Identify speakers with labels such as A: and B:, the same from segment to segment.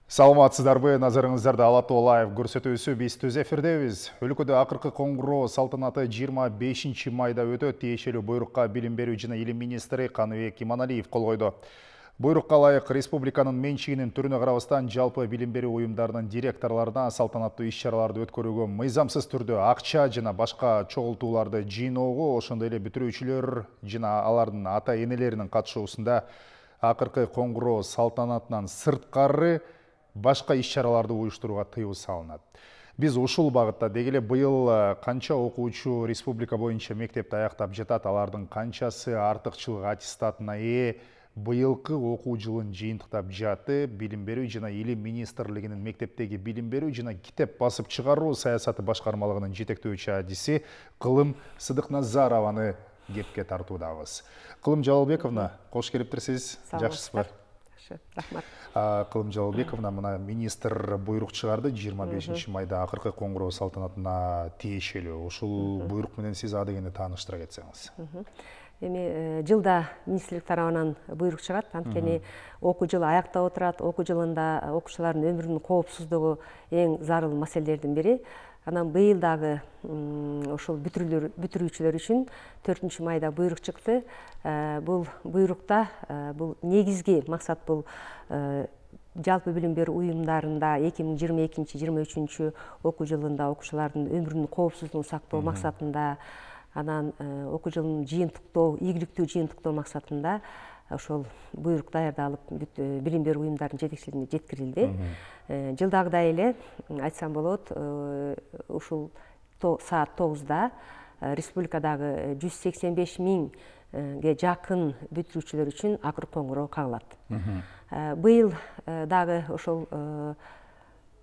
A: Саламатсыздарбы, назарыңыздарда Ала Тоо лайв көрсөтүүсү биз түз эфирдебиз. Өлкөдө акыркы коңгуроо салтанаты 25 майда өтөт. Тиешелүү буйрукка билим берүү жана илим министри Каныбек Иманалиев кол койду. Буйрукка ылайык республиканын менчигинин түрүнө карабастан жалпы билим берүү уюмдарынын директорлоруна салтанаттуу иш-чараларды өткөрүүгө мыйзамсыз түрдө акча жана башка чогултууларды жыйноого, ошондой эле бүтүрүүчүлөр жана алардын ата-энелеринин катышуусунда акыркы коңгуроо салтанатынан сырткары башка иш-чараларды уюштурууга тыюу салынат. Биз ушул багытта деги эле быйыл канча окуучу республика боюнча мектепти аяктап жатат, алардын канчасы артыкчылык аттестатына ээ, быйылкы окуу жылын жыйынтыктап жатты. Билим берүү жана илим министрлигинин мектептеги билим берүү жана китеп басып чыгаруу саясаты башкармалыгынын жетектөөчү адиси Кылым Сыдыкназарованы кепке тартуудабыз. Кылым Жалалбековна, кош келиптирсиз. Жакшысызбы?
B: Рахмат.
A: Кылым Жалалбековна, мына министр буйрук чыгарды 25 майда акыркы коңгуроо салтанатына тиешелүү. Ушул буйрук менен сиз адегенде тааныштыра кетсеңиз.
B: Эми жылда министрлик тарабынан буйрук чыгат, анткени окуу жылы аяктап отурат. Окуу жылында окуучулардын өмүрүнүн коопсуздугу эң зарыл маселелердин бири. Анан быйыл дагы ошол бүтүрүүчүлөр үчүн 4 майда буйрук чыкты. Бул буйрукта бул негизги максат бул жалпы билим берүү уюмдарында 2022-23 окуу жылында окуучулардын өмүрүнүн коопсуздугун сактоо максатында, анан окуу жылын жыйынтыктоо, ийгиликтүү жыйынтыктоо максатында ошол буйрук даярдалып билим берүү уюмдарынын жетекчилигине жеткирилди. Жылдагыдай эле айтсам болот, ушул саат 9-да республикадагы 185 миңге жакын бүтүрүүчүлөр үчүн акыркы коңгуроо кагылат. Быйыл дагы ошол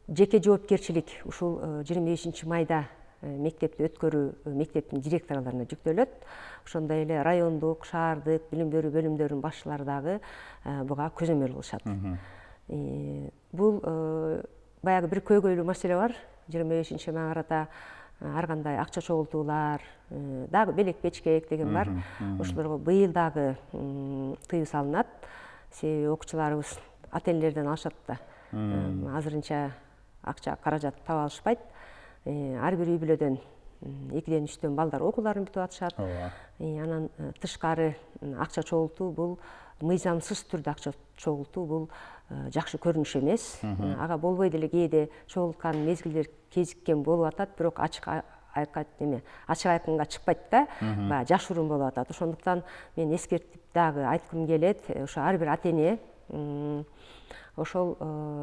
B: жеке жоопкерчилик ушул 25 майда мектепти өткөрүү мектептин директорлоруна жүктөлөт. Ошондой эле райондук, шаардык билим берүү бөлүмдөрүнүн башчылары дагы буга көзөмөл кылышат. Бул баягы бир көйгөйлүү маселе бар. 25 майга карата ар кандай акча чогултуулар, дагы белек печкек деген бар. Ошолорго быйыл дагы тыюу салынат. Себеби окуучуларыбыз ата-энелерден алышат да. Азырынча акча каражат таба алышпайт. Ар бир үй бүлөдөн 2-3 балдар окууларын бүтүп атышат. Анан тышкары акча чогултуу бул мыйзамсыз түрдө акча чогултуу бул жакшы көрүнүш эмес. Ага болбой деле кээде чогулткан мезгилдер кезиккен болуп атат, бирок ачык айкынга чыкпайт да, баягы жашыруун болуп атат. Ошондуктан мен эскертип дагы айткым келет, ошо ар бир ата-эне ошол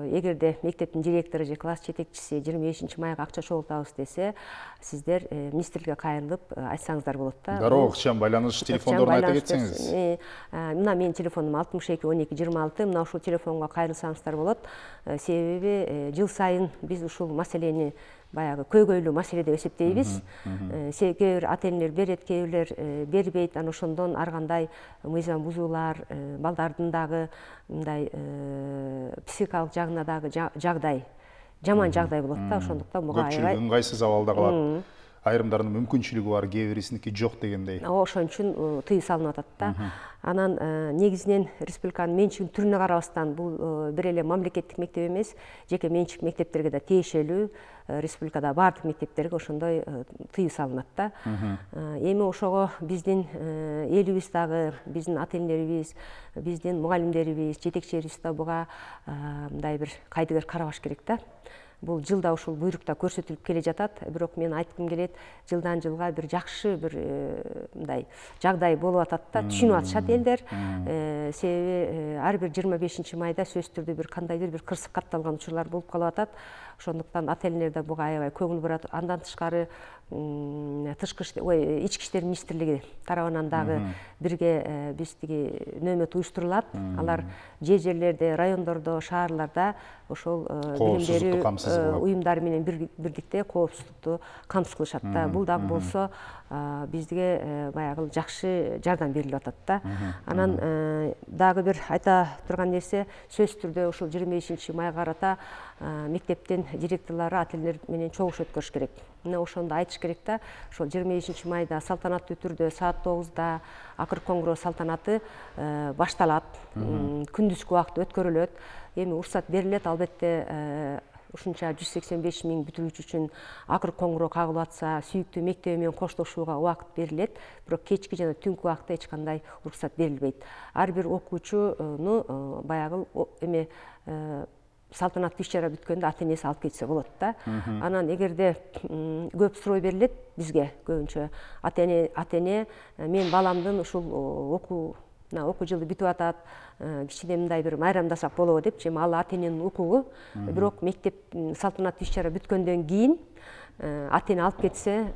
B: эгерде мектептин директору же класс жетекчиси 25 майга акча чогултабыз десе, сиздер министрликке кайрылып айтсаңыздар болот да.
A: Дароо ыкчам байланыш телефондорун айта кетсеңиз.
B: Мына менин телефонум 62 12 26, мына ушул телефонго кайрылсаңыздар болот. Себеби жыл сайын биз ушул маселени баягы көйгөйлүү маселе деп эсептейбиз. Кээ бир ата-энелер берет, кээ бирлер бербейт. Анан ошондон ар кандай мыйзам бузуулар, балдардын дагы мындай психикалык жагына дагы жаман жагдай болот да. Ошондуктан буга аябай
A: көпчүлүк ыңгайсыз абалда калат. Айрымдарынын мүмкүнчүлүгү бар, кээ бирисиники жок дегендей.
B: Ошон үчүн тыюу салынып атат да. Анан негизинен республиканын менчигинин түрүнө карабастан бул бир эле мамлекеттик мектеп эмес, жеке менчик мектептерге да тиешелүү. Республикада баардык мектептерге ошондой тыюу салынат да. Эми ошого биздин элибиз дагы, биздин ата-энелерибиз, биздин мугалимдерибиз, жетекчилерибиз да буга мындай бир кайдыгер карабаш керек да. Бул жылда ушул буйрукта көрсөтүлүп келе жатат, бирок мен айткым келет, жылдан жылга бир жакшы бир мындай жагдай болуп атат да, түшүнүп атышат элдер. Себеби ар бир 25 майда сөзсүз түрдө бир кандайдыр бир кырсык катталган учурлар болуп калып атат. Ошондуктан ата-энелер да буга аябай көңүл бурат. Андан тышкары ички иштер министрлиги тарабынан дагы бирге биз тиги нөөмөт уюштурулат. Алар жерлерде, райондордо, шаарларда ошол билим берүү уюмдары менен бирдикте коопсуздукту камсыз кылышат да. Бул дагы болсо бизге баягы жакшы жардам берилип атат да. Анан дагы бир айта турган нерсе, сөзсүз түрдө ушул 25 майга карата мектептин директорлору ата-энелер менен чогуу өткөрүш керек. мына ошондо айтыш керек да. Ошол 25 майда салтанаттуу түрдө саат 9-да акыркы коңгуроо салтанаты башталат. Күндүзгү убакыт өткөрүлөт. Эми уруксат берилет, албетте ушунча 185 000 бүтүрүүчү үчүн акыркы коңгуроо кагылып атса, сүйүктүү мектеби менен коштошууга убакыт берилет. Бирок кечки жана түнкү убакытта эч кандай уруксат берилбейт. Ар бир окуучуну баягы эме салтанаттуу иш-чара бүткөндө ата-энеси алып кетсе болот да. Анан эгерде көп суроо берилет бизге, көбүнчө ата-эне мен баламдын ушул окуу жылы бүтүп атат, кичине мындай бир майрамдасак болобу депчи. Эми ал ата-эненин укугу. Бирок мектеп салтанаттуу иш-чара бүткөндөн кийин ата-эне алып кетсе,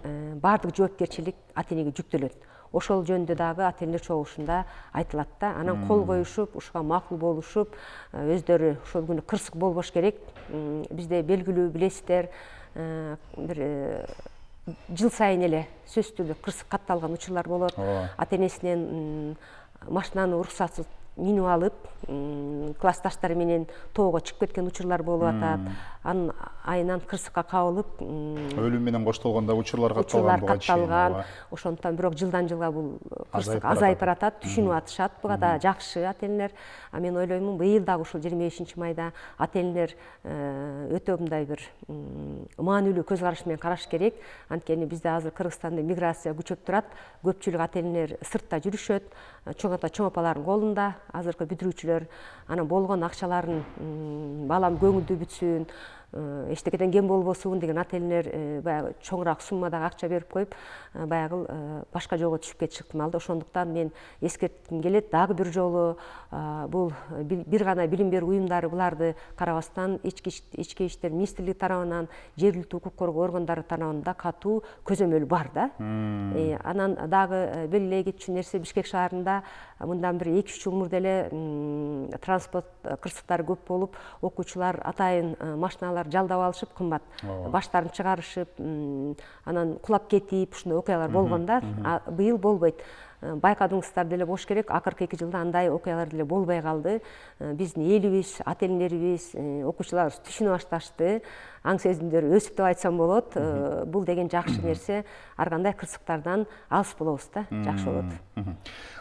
B: баардык жоопкерчилик ата-энеге жүктөлөт. Ошол жөнүндө дагы ата-энелер чогулушунда айтылат да. Анан кол коюшуп, ушуга макул болушуп, өздөрү ошол күнү кырсык болбош керек. Бизде белгилүү билесиздер, бир жыл сайын эле сөзсүз түрдө кырсык катталган учурлар болот. Ата-энесинен машинаны уруксатсыз минип алып, классташтары менен тоого чыгып кеткен учурлар болуп атат. Анын айынан кырсыкка кабылып,
A: өлүм менен коштолгон да учурлар катталган.
B: Ошондуктан бирок жылдан жылга бул кырсык азайып баратат, түшүнүп атышат. Буга да жакшы ата-энелер. А мен ойлоймун, быйыл дагы ушул 25 майда ата-энелер өтө мындай бир маанилүү көз караш менен караш керек. Анткени бизде азыр Кыргызстанда миграция күчөп турат. Көпчүлүк ата-энелер сыртта жүрүшөт, чоң ата чоң апалардын колунда. Азыркы бүтүрүүчүлөр анан болгон акчаларын балам көңүлдүү бүтсүн, эчтекеден кем болбосун деген ата-энелер баягы чоңураак суммадагы акча берип коюп, баягы башка жолго түшүп кетиши ыктымал да. Ошондуктан мен эскертким келет, дагы бир жолу бул бир гана билим берүү уюмдары буларды карабастан ички иштер министрлиги тарабынан, жергиликтүү укук коргоо органдары тарабынан катуу көзөмөл бар да. Анан дагы белгилей кетчү нерсе, Бишкек шаарында мындан бир 2-3 жыл мурда эле транспорт кырсыктары көп болуп, окуучулар атайын машиналар жалдап алышып, кымбат баштарын чыгарышып, анан кулап кетип, ушундай окуялар болгон да. Быйыл болбойт. Байкадыңыздар деле болуш керек, акыркы 2 жылда андай окуялар деле болбой калды. Биздин элибиз, ата-энелерибиз, окуучуларыбыз түшүнө башташты. Аң сезимдери өсүп деп айтсам болот. Бул деген жакшы нерсе. Ар кандай кырсыктардан алыс болобуз да, жакшы болот.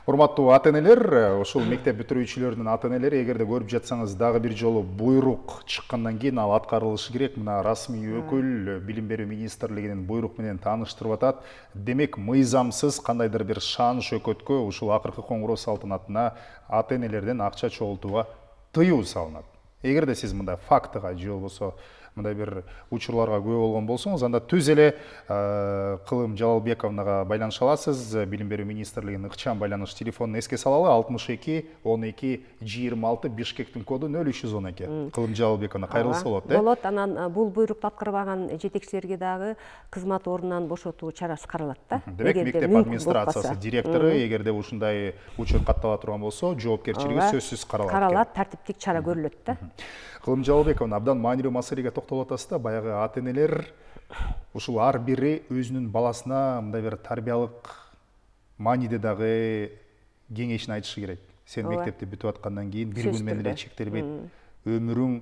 A: Урматтуу ата-энелер, ушул мектеп бүтүрүүчүлөрүнүн ата-энелери, эгерде көрүп жатсаңыз, дагы бир жолу буйрук чыккандан кийин ал аткарылышы керек. Мына расмий өкүл Билим берүү министрлигинин буйрук менен тааныштырып атат. Демек, мыйзамсыз кандайдыр бир шан шөкөткө ушул акыркы коңгуроо салтанатына ата-энелерден акча чогултууга тыюу салынат. Эгерде сиз мындай фактыга же болбосо мындай бир учурларга күбө болгон болсоңуз, анда түз эле Кылым Жалалбековнага байланыша аласыз. Билим берүү министрлигинин ыкчам байланыш телефонун эске салалы: 62 12 26, Бишкектин коду 0312. Кылым Жалалбековна кайрылса болот,
B: болот. Анан бул буйрукту аткарбаган жетекчилерге дагы кызмат ордунан бошотуу чарасы каралат да.
A: Демек, мектеп администрациясы директору эгерде ушундай учур каттала турган болсо, жоопкерчилиги сөзсүз каралат.
B: Каралат, тартиптик чара көрүлөт да.
A: Кылым Жалалбековна, абдан маанилүү маселеге токтолуп атасыз да. Баягы ата-энелер ушул ар бири өзүнүн баласына мындай бир тарбиялык мааниде дагы кеңешин айтышы керек. Сен мектепти бүтүп аткандан кийин бир күн менен эле чектелбейт, өмүрүң,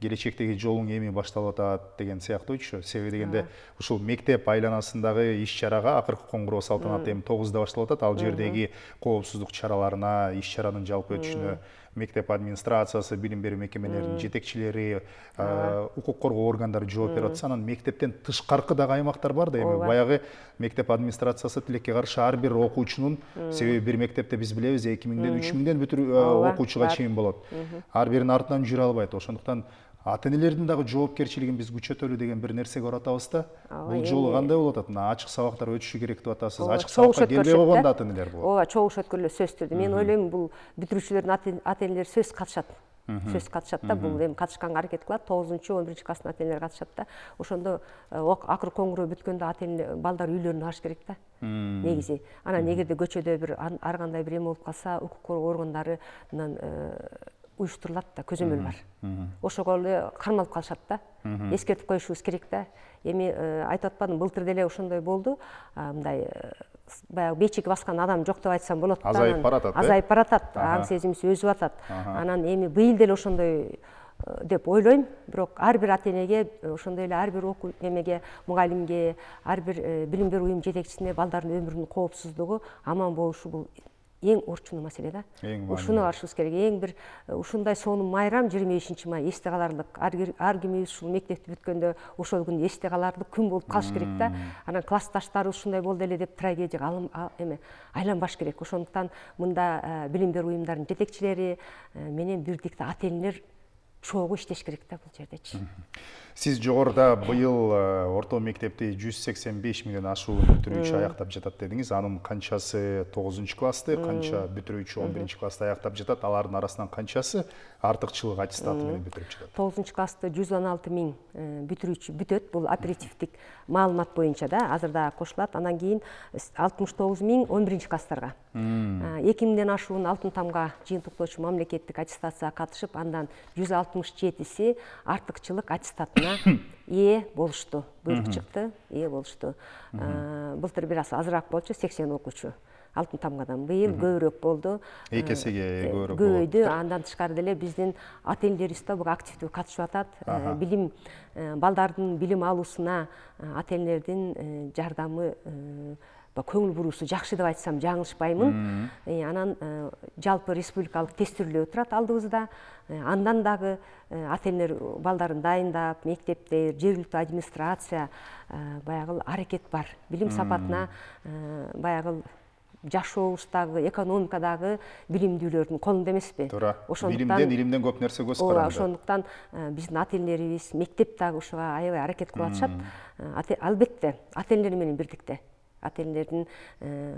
A: келечектеги жолуң эми башталып атат деген сыяктуучу. Себеби дегенде ушул мектеп айланасындагы иш-чарага акыркы коңгуроо салтанаты эми 9-да башталып атат. Ал жердеги коопсуздук чараларына, иш-чаранын жалпы өтүшүнө мектеп администрациясы, билим берүү мекемелеринин жетекчилери, укук коргоо органдары жооп берип атса, анан мектептен тышкаркы дагы аймактар бар да. Эми баягы мектеп администрациясы тилекке каршы ар бир окуучунун, себеби бир мектепте биз билебиз 2000ден 3000ден окуучуга чейин болот. Ар биринин артынан жүрө албайт. Ошондуктан ата-энелердин дагы жоопкерчилигин биз күчөтөлү деген бир нерсеге баратабыз да. Бул жолу кандай болуп атат? Мына ачык сабактар өтүшү керек деп атасыз. Ачык сабакка келбей койгон да ата-энелер болот.
B: Ооба, чогуу өткөрүлөт сөзсүз түрдө. Мен ойлойм, бул бүтүрүүчүлөрдүн ата-энелери сөзсүз катышат. Сөз катышат да. Бул эми катышканга аракет кылат. 9-11 класстын ата-энелери катышат да. Ошондо акыркы коңгуроо бүткөндө ата-эне балдар үйлөрүнө барыш керек да. Негизи. Анан эгерде көчөдө бир ар кандай бир эме болуп калса, укук коргоо органдарынан уюштурулат да, көзөмөл бар. Ошого эле кармалып калышат да. Эскертип коюшубуз керек да. Эми айтып атпадым, былтыр деле ошондой болду. Мындай баягы бечиги баскан адам жок деп айтсам болот да.
A: Азайып баратат.
B: Азайып баратат, аң сезимибиз өзүп атат. Анан эми быйыл деле ошондой деп ойлойм. Бирок ар бир ата энеге, ошондой эле ар бир окуу немеге, мугалимге, ар бир билим берүү уюм жетекчисине балдардын өмүрүнүн коопсуздугу, аман болушу бул эң орчундуу маселе да. Ушуну алышыбыз керек. Эң бир ушундай сонун майрам 25-май эсте каларлык. Ар кимибиз ушул мектепти бүткөндө ошол күн эсте каларлык күн болуп калыш керек да. Анан классташтары ушундай болду эле деп трагедияга айланбаш керек. Ошондуктан мында билим берүү уюмдарынын жетекчилери менен бирдикте ата энелер чогуу иштеш керек да бул жердечи.
A: Сиз жогоруда быйыл орто мектепти 185 миллион ашуун бүтүрүүчү аяктап жатат дедиңиз. Анын канчасы 9-классты, канча бүтүрүүчү 11-классты аяктап жатат? Алардын арасынан канчасы артыкчылык аттестаты менен бүтүрүп жатат?
B: 9-классты 116 миң бүтүрүүчү бүтөт. Бул оперативдик маалымат боюнча да, азыр да кошулат. Анан кийин 69 миң 11-класстарга. 2000ден ашуун алтын тамга жыйынтыктоочу мамлекеттик аттестацияга катышып, андан 167си артыкчылык аттестатына ээ болушту. Буйрук чыкты, ээ болушту. Былтыр бир аз азыраак болчу, 80 окуучу алтын тамгадан. Быйыл көбүрөөк болду.
A: 2 эсеге көбүрөөк болду.
B: Көбөйдү. Андан тышкары деле биздин ата энелерибиз да буга активдүү катышып атат. Билим, балдардын билим алуусуна ата энелердин жардамы, көңүл буруусу жакшы деп айтсам жаңылышпаймын. Анан жалпы республикалык тестирлөө турат алдыбызда. Андан дагы ата энелер балдарын дайындап, мектепте жергиликтүү администрация баягы аракет бар. Билим сапатына баягы жашообуздагы, экономикадагы билимдүүлөрдүн колунда эмеспи?
A: Туура. Билимден, илимден көп нерсе көз каранды.
B: Ошондуктан биздин ата энелерибиз, мектеп дагы ушуга аябай аракет кылып атышат. Албетте, ата энелер менен бирдикте. Ата энелердин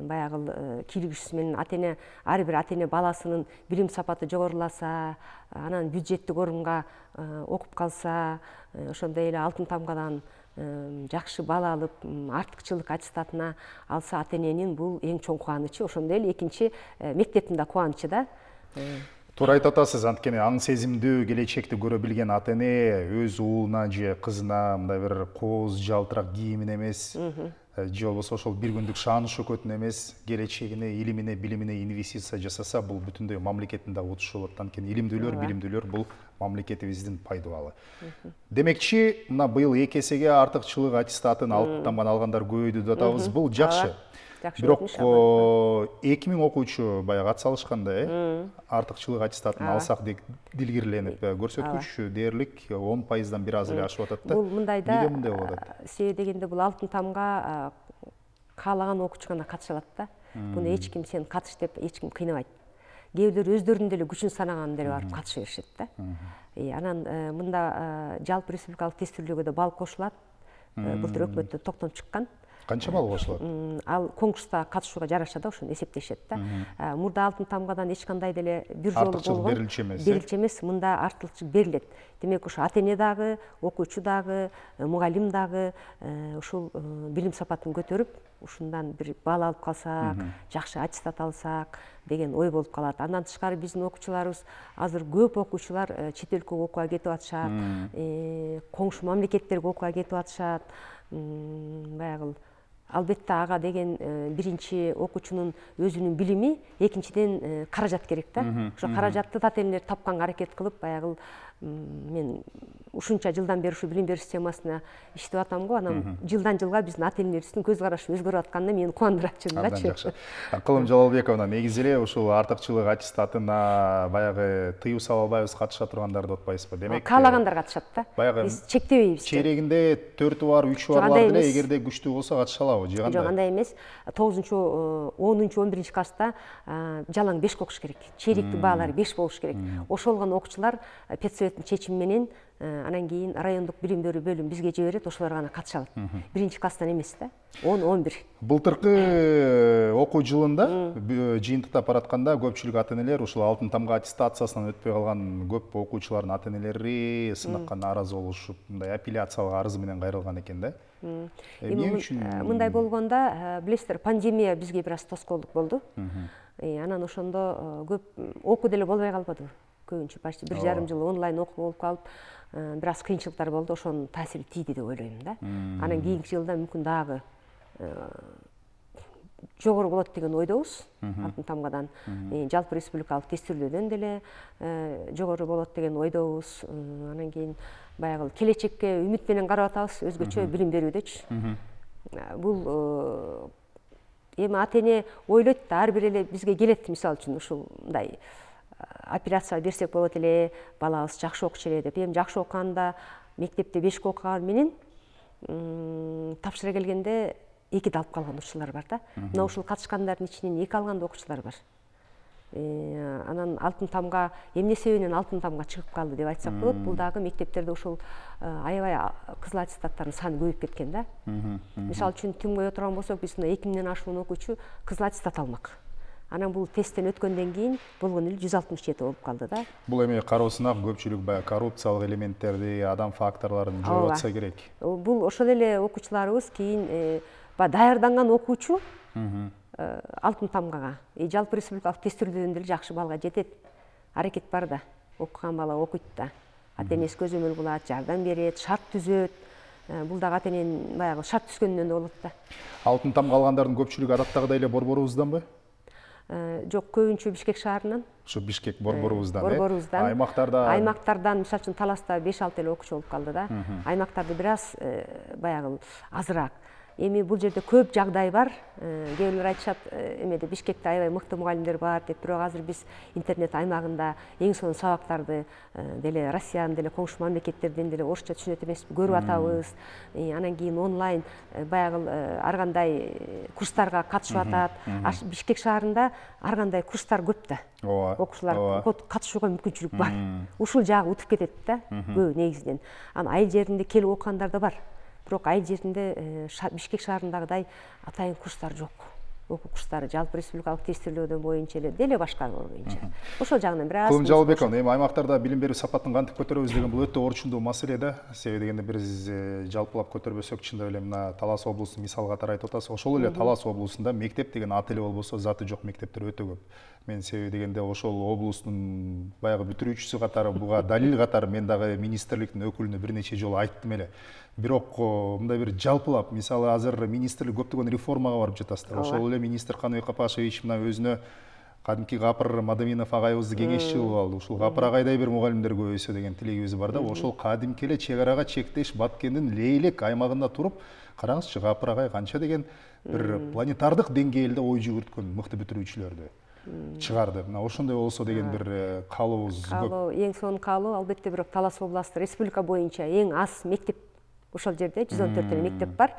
B: баягы кийлигишүүсү менен ар бир ата эне баласынын билим сапаты жогоруласа, анан бюджеттик орунга окуп калса, ошондой эле алтын тамгадан жакшы бала алып, артыкчылык аттестатына алса ата эненин бул эң чоң кубанычы. Ошондой эле экинчи мектептин да кубанычы да.
A: Туура айтып атасыз. Анткени аң сезимдүү келечекти көрө билген ата эне өз уулуна же кызына мындай бир кооз жалтырак кийимин эмес, же болбосо ошол бир күндүк шааны шөкөтүн эмес, келечегине, илимине, билимине инвестиция жасаса, бул бүтүндөй мамлекеттин да утушу болот. Анткени илимдүүлөр, билимдүүлөр бул мамлекетибиздин пайдубалы. Демекчи, мына быйыл 2 эсеге артыкчылык аттестатын алтын тамганы алгандар көбөйдү деп атабыз. Бул жакшы. Бирок 2000 окуучу баягы ат салышканда, артыкчылык аттестатын алсак деп дилгирленип, көрсөткүч дээрлик 10%дан бир аз эле ашып атат да.
B: Бул мындайда,
A: эмне мындай болуп атат?
B: Себеби дегенде бул алтын тамга каалаган окуучу гана катыша алат да. Буну эч ким сен катыш деп эч ким кыйнабайт. Кээ бирөө өздөрүнүн деле күчүн санаган деле барып катыша беришет да. Анан мында жалпы республикалык тестирлөөгө да бал кошулат. Былтыр өкмөттөн токтом чыккан.
A: Канча бал кошулат?
B: Ал конкурста катышууга жараша да, ошону эсептешет да. Мурда алтын тамгадан эч кандай деле бир жолу болгон берилчү эмес, мында артыкчылык берилет. Демек ошо ата эне дагы, окуучу дагы, мугалим дагы ушул билим сапатын көтөрүп, ушундан бир бал алып калсак, жакшы аттестат алсак деген ой болуп калат. Андан тышкары биздин окуучуларыбыз азыр көп окуучулар чет өлкөгө окууга кетип атышат, коңшу мамлекеттерге окууга кетип атышат. Баягы албетте ага деген биринчи окуучунун өзүнүн билими, экинчиден каражат керек да. Ошо каражатты ата энелер тапканга аракет кылып, баягы мен ушунча жылдан бери ушу билим берүү системасына иштеп атам го. Анан жылдан жылга биздин ата энелерибиздин көз карашы өзгөрүп атканына мени кубандырат чынындачы.
A: Жакшы. Кылым Жалалбековна, негизи эле ушул артыкчылык аттестатына баягы тыюу сала албайбыз, катыша тургандарды отпайсызбы? Демек,
B: каалагандар катышат да.
A: Биз
B: чектебейбиз.
A: Чейрегинде 4 бар, 3 бар деле, эгерде күчтүү болсо катыша алабы, же кандай?
B: Жок, андай эмес. 9-10, 11 класста жалаң 5 окуш керек. Чейректик баалары 5 болуш керек. Ошолгон окуучулар педсоветтин чечими менен анан кийин райондук билим берүү бөлүмү бизге жиберет, ошолор гана катыша алат. Биринчи класстан эмес да. 10-11.
A: Былтыркы окуу жылында жыйынтыктап баратканда көпчүлүк ата энелер ушул алтын тамга аттестациясынан өтпөй калган көп окуучулардын ата энелери сынакка нааразы болушуп, мындай апелляциялык арыз менен кайрылган экен да. Эмне үчүн
B: мындай болгондо, билесиздер, пандемия бизге бир аз тоскоолдук болду. Анан ошондо көп окуу деле болбой калбадыбы? Көбүнчө почти 1,5 жыл онлайн окуу болуп калып, бир аз кыйынчылыктар болду, ошонун таасири тийди деп ойлойм да. Анан кийинки жылда мүмкүн дагы жогору болот деген ойдобуз. Алтын тамгадан жалпы республикалык тестирүүдөн деле жогору болот деген ойдобуз. Анан кийин баягы келечекке үмүт менен карап атабыз, өзгөчө билим берүүдөчү. Бул эми ата эне ойлойт да, ар бир эле бизге келет, мисалы үчүн ушундай операция берсек болот эле, балабыз жакшы окучу эле деп. Эми жакшы окуганда мектепте 5 окуган менен тапшыра келгенде 2 алып калган окуучулар бар да. Мына ушул катышкандардын ичинен 2 алган да окуучулар бар. Анан алтын тамга эмне себебинен алтын тамга чыгып калды деп айтсак болот. Бул дагы мектептерде ушул аябай кызыл аттестаттардын саны көбөйүп кеткен да. Мисалы үчүн Түмгөй отурган болсок, биз мына 2000ден ашуун окуучу кызыл аттестат алмак. Анан бул тесттен өткөндөн кийин болгон эле 167 болуп калды да.
A: Бул эми кароосуна көпчүлүк баягы коррупциялык элементтерди, адам факторлорун жоюп атса керек.
B: Бул ошол эле окуучуларыбыз кийин даярданган окуучу алтын тамгага жалпы республикалык тестирүүдөн деле жакшы балга жетет. Аракет бар да. Окуган бала окуйт да. Ата энеси көзөмөл кылат, жардам берет, шарт түзөт. Бул дагы ата эненин баягы шарт түзгөнүнөн да болот да.
A: Алтын тамга алгандардын көпчүлүгү адаттагыдай эле борборубузданбы?
B: Жок, көбүнчө Бишкек шаарынан.
A: Ушу Бишкек борборубуздан.
B: Борборубуздан.
A: Аймактардан,
B: мисалы үчүн Таласта 5-6 эле окуучу болуп калды да. Аймактарды бир аз баягы азыраак. Эми бул жерде көп жагдай бар. Кээ бирлер айтышат, эмеде Бишкекте аябай мыкты мугалимдер бар деп, бирок азыр биз интернет аймагында эң сонун сабактарды деле Россиянын деле коңшу мамлекеттерден деле орусча түшүнөт эмеспи көрүп атабыз. Анан кийин онлайн баягы ар кандай курстарга катышып атат. Бишкек шаарында ар кандай курстар көп да. Окуучулар катышууга мүмкүнчүлүк бар. Ушул жагы утуп кетет да, көбү негизинен. Анан айыл жеринде келип окугандар да бар. Бирок айыл жеринде Бишкек шаарындагыдай атайын курстар жок. Окуу курстары жалпы республикалык тестирүүдөн боюнча эле деле башка боюнча. Ошол жагынан бир аз.
A: Кулум Жалалбекова, эми аймактарда билим берүү сапатын кантип көтөрөбүз деген бул өтө орчундуу маселе да. Себеби дегенде биз жалпылап көтөрбөсөк, чындап эле мына Талас облусун мисал катары айтып атасыз. Ошол эле Талас облусунда мектеп деген аты эле болбосо, заты жок мектептер өтө көп. Мен себеби дегенде ошол облустун баягы бүтүрүүчүсү катары, буга далил катары мен дагы министрликтин өкүлүнө бир нече жолу айттым эле. Бирок мындай бир жалпылап, мисалы азыр министрлик көптөгөн реформага барып жатасыздар. Ошол эле министр Каныбек Капашевич мына өзүнө кадимки Гапыр Мадаминов агайыбызды кеңешчи кылып алды. Ушул Гапыр агайдай бир мугалимдер көбөйсө деген тилегибиз бар да. Ошол кадимки эле чек арага чектеш Баткендин Лейлек аймагында туруп, караңызчы, Гапыр агай канча деген бир планетардык деңгээлде ой жүгүрткөн мыкты бүтүрүүчүлөрдү чыгарды. Мына ошондой болсо деген бир каалообуз көп.
B: Эң сонун каалоо албетте, бирок Талас областы республика боюнча эң аз мектеп ошол жерде 114 эле мектеп бар.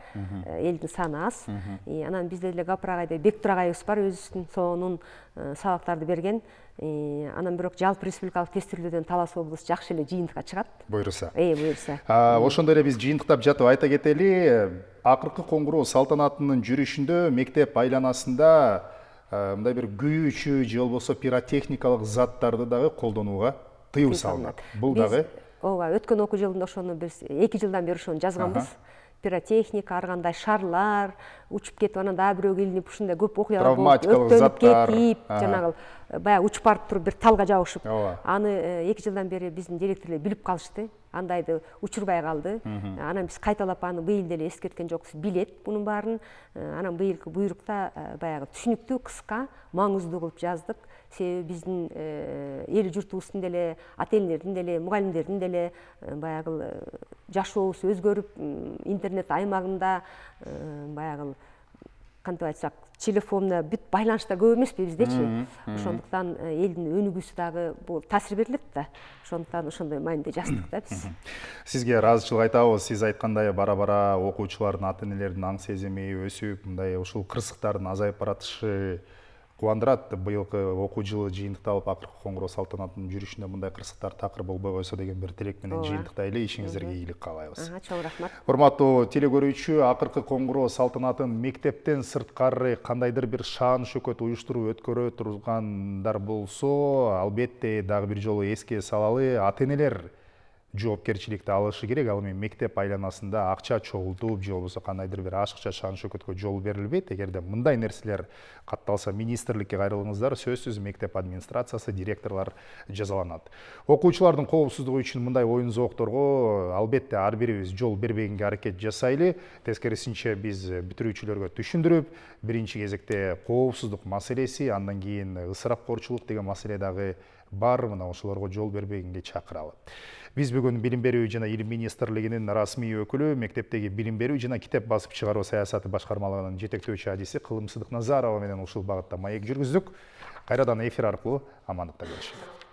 B: Элдин саны аз. Анан бизде деле Гапыр агайдай Бектур агайыбыз бар, өзүнүн сонун сабактарды берген. Анан бирок жалпы республикалык тестирүүдөн Талас облусу жакшы эле жыйынтыкка чыгат.
A: Буйруса.
B: Буйруса.
A: Ошондой эле биз жыйынтыктап жатып айта кетели, акыркы коңгуроо салтанатынын жүрүшүндө мектеп айланасында мындай бир күйүүчү же болбосо пиротехникалык заттарды дагы колдонууга тыюу салынат. Бул дагы
B: ооба, өткөн окуу жылында ошону биз 2 жылдан бери ошону жазганбыз. Пиротехника, ар кандай шарлар учуп кетип, анан дагы бирөө илинип ушундай көп окуялар болуп,
A: травматикалык заттар
B: кетип, жанагы баягы учуп барып туруп бир талга жабышып. Аны 2 жылдан бери биздин директорлор билип калышты. Андайды учурбай калды. Анан биз кайталап аны быйыл деле эскерткен жокпуз, билет бунун баарын. Анан быйылкы буйрукта баягы түшүнүктүү, кыска, маңыздуу кылып жаздык. Себеби биздин эл журтубуздун деле, ата энелердин деле, мугалимдердин деле баягы жашообуз өзгөрүп, интернет аймагында баягы кантип айтсак, телефонда бүт байланыштар көп эмеспи биздечи. Ошондуктан элдин өнүгүүсү дагы бул таасир берилет да. Ошондуктан ошондой мааниде жаздык да биз.
A: Сизге ыраазычылык айтабыз. Сиз айткандай бара-бара окуучулардын, ата энелердин аң сезими өсүп, мындай ушул кырсыктардын азайып баратышы кубандырат. Быйылкы окуу жылы жыйынтыкталып, акыркы коңгуроо салтанатынын жүрүшүндө мындай кырсыктар такыр болбой койсо деген бир тилек менен жыйынтыктайлы. Ишиңиздерге ийгилик каалайбыз.
B: Чоң рахмат.
A: Урматтуу телекөрүүчү, акыркы коңгуроо салтанатын мектептен сырткары кандайдыр бир шаан шөкөт уюштуруп өткөрө тургандар болсо, албетте дагы бир жолу эске салалы, ата энелер жоопкерчиликти алышы керек. Ал эми мектеп айланасында акча чогултуп же болбосо кандайдыр бир ашыкча шан шөкөткө жол берилбейт. Эгерде мындай нерселер катталса, министрликке кайрылыңыздар, сөзсүз мектеп администрациясы, директорлор жазаланат. Окуучулардын коопсуздугу үчүн мындай оюн зоокторго албетте ар бирибиз жол бербегенге аракет жасайлы. Тескерисинче биз бүтүрүүчүлөргө түшүндүрүп, биринчи кезекте коопсуздук маселеси, андан кийин ысырапкорчулук деген маселе дагы бар, мына ошолорго жол бербегенге чакыралы. Биз бүгүн Билим берүү жана Илим министрлигинин расмий өкүлү, мектептеги билим берүү жана китеп басып чыгаруу саясаты башкармалыгынын жетектөөчү адиси Кылымсыздык Назарова менен ушул багытта маек жүргүздүк. Кайрадан эфир аркылуу амандыкта көрүшөлү.